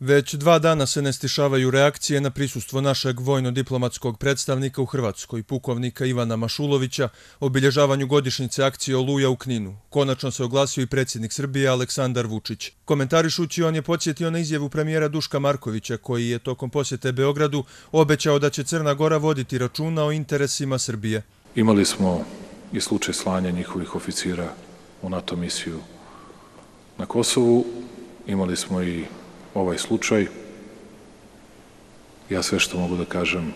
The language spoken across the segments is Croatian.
Već 2 dana se ne stišavaju reakcije na prisustvo našeg vojno-diplomatskog predstavnika u Hrvatskoj, pukovnika Ivana Mašulovića, obilježavanju godišnjice akcije Oluja u Kninu. Konačno se oglasio i predsjednik Srbije Aleksandar Vučić. Komentarišući, on je podsjetio na izjavu premijera Duška Markovića, koji je tokom posjete Beogradu obećao da će Crna Gora voditi računa o interesima Srbije. Imali smo i slučaj slanja njihovih oficira u NATO misiju na Kosovu, imali smo i ovaj slučaj. Ja sve što mogu da kažem,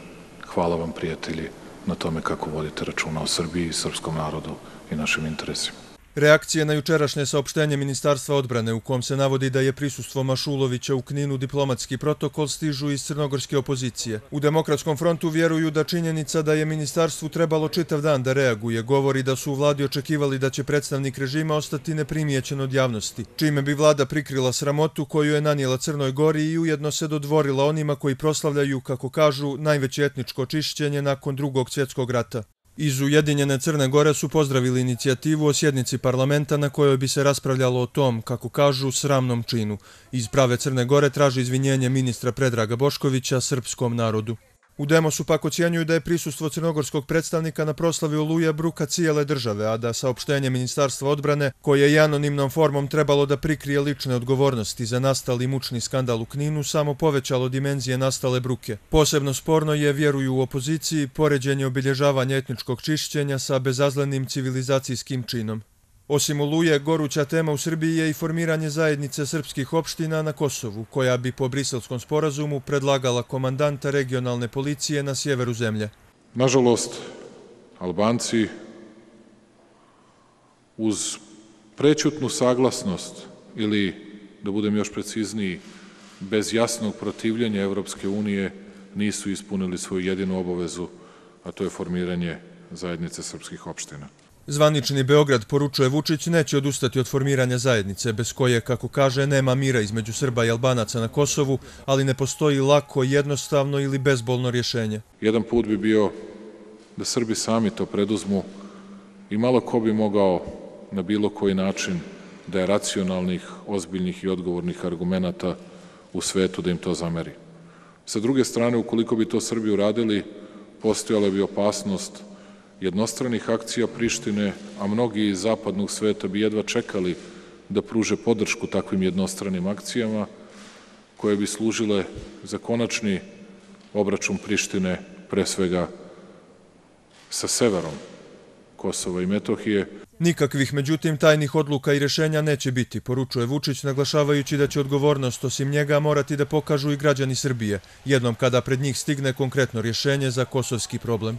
hvala vam prijatelji na tome kako vodite računa o Srbiji, srpskom narodu i našim interesima. Reakcije na jučerašnje saopštenje Ministarstva odbrane u kom se navodi da je prisustvo Mašulovića u Kninu diplomatski protokol stižu iz crnogorske opozicije. U Demokratskom frontu vjeruju da činjenica da je ministarstvu trebalo čitav dan da reaguje govori da su u vladi očekivali da će predstavnik režima ostati neprimijećen od javnosti, čime bi vlada prikrila sramotu koju je nanijela Crnoj Gori i ujedno se dodvorila onima koji proslavljaju, kako kažu, najveće etničko čišćenje nakon Drugog svjetskog rata. Iz Ujedinjene Crne Gore su pozdravili inicijativu o sjednici parlamenta na kojoj bi se raspravljalo o tom, kako kažu, sramnom činu. Iz prave Crne Gore traži izvinjenje ministra Predraga Boškovića srpskom narodu. U Demosu pak ocjenjuju da je prisustvo crnogorskog predstavnika na proslavi Oluje bruka cijele države, a da saopštenje Ministarstva odbrane, koje je anonimnom formom trebalo da prikrije lične odgovornosti za nastali mučni skandal u Kninu, samo povećalo dimenzije nastale bruke. Posebno sporno je, vjeruju u opoziciji, poređenje obilježavanja etničkog čišćenja sa bezazlenim civilizacijskim činom. Osim Oluje, goruća tema u Srbiji je i formiranje zajednice srpskih opština na Kosovu, koja bi po Briselskom sporazumu predlagala komandanta regionalne policije na sjeveru zemlje. Nažalost, Albanci uz prećutnu saglasnost ili, da budem još precizniji, bez jasnog protivljenja Evropske unije nisu ispunili svoju jedinu obavezu, a to je formiranje zajednice srpskih opština. Zvanični Beograd, poručuje Vučić, neće odustati od formiranja zajednice, bez koje, kako kaže, nema mira između Srba i Albanaca na Kosovu, ali ne postoji lako, jednostavno ili bezbolno rješenje. Jedan put bi bio da Srbi sami to preduzmu i malo ko bi mogao na bilo koji način da je racionalnih, ozbiljnih i odgovornih argumenata u svetu da im to zameri. Sa druge strane, ukoliko bi to Srbi uradili, postojala bi opasnost jednostranih akcija Prištine, a mnogi iz zapadnog sveta bi jedva čekali da pruže podršku takvim jednostranim akcijama, koje bi služile za konačni obračun Prištine, pre svega sa severom Kosova i Metohije. Nikakvih, međutim, tajnih odluka i rješenja neće biti, poručuje Vučić, naglašavajući da će odgovornost osim njega morati da pokažu i građani Srbije, jednom kada pred njih stigne konkretno rješenje za kosovski problem.